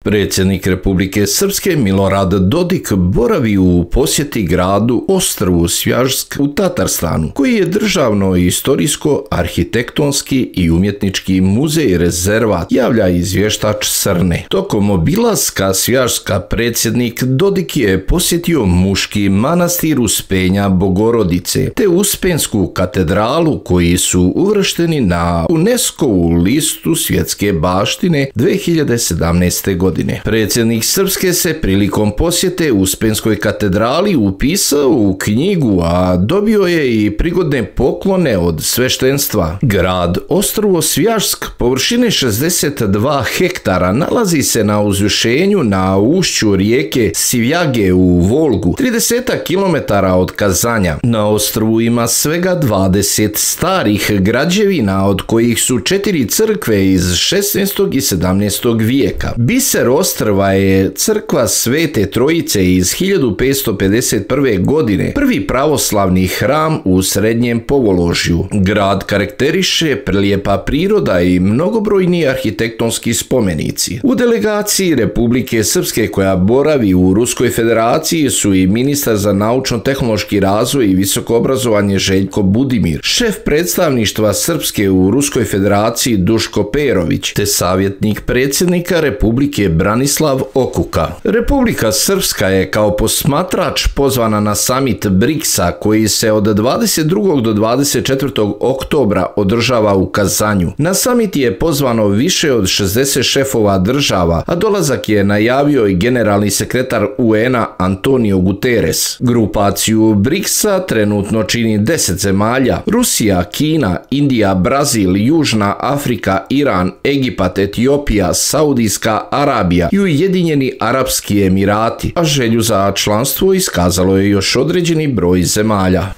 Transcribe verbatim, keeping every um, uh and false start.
Predsjednik Republike Srpske Milorad Dodik boravi u posjeti gradu Ostrvu Svjažsk u Tatarstanu, koji je državno, istorijsko, arhitektonski i umjetnički muzej rezervat, javlja izvještač Srne. Tokom obilaska Svjažska predsjednik Dodik je posjetio muški manastir Uspenja Bogorodice te Uspensku katedralu, koji su uvršteni na UNESCO-vu listu svjetske baštine dvije hiljade sedamnaeste. godine. Predsjednik Srpske se prilikom posjete Uspenskoj katedrali upisao u knjigu, a dobio je i prigodne poklone od sveštenstva. Grad Ostrovo Svjažsk, površine šezdeset dva hektara, nalazi se na uzvišenju na ušću rijeke Sivjage u Volgu, trideset kilometara od Kazanja. Na ostrvu ima svega dvadeset starih građevina, od kojih su četiri crkve iz šesnaestog i sedamnaestog vijeka. Biser ostrva je crkva Svete Trojice iz hiljadu petsto pedeset prve. godine, prvi pravoslavni hram u srednjem Povoložju. Grad karakteriše prelijepa priroda i mnogobrojni arhitektonski spomenici. U delegaciji Republike Srpske koja boravi u Ruskoj federaciji su i ministar za naučno-tehnološki razvoj i visoko obrazovanje Željko Budimir, šef predstavništva Srpske u Ruskoj federaciji Duško Perović, te savjetnik predsjednika Republike Branislav Okuka. Republika Srpska je kao posmatrač pozvana na samit briksa, koji se od dvadeset drugog do dvadeset četvrtog oktobra održava u Kazanju. Na samit je pozvano više od šezdeset šefova država, a dolazak je najavio i generalni sekretar U N-a Antonio Guterres. Grupaciju briksa trenutno čini deset zemalja: Rusija, Kina, Indija, Brazil, Južna Afrika, Iran, Egipat, Etiopija, Saudijska Arabija i Ujedinjeni Arapski Emirati, a želju za članstvo iskazalo je još određeni broj zemalja.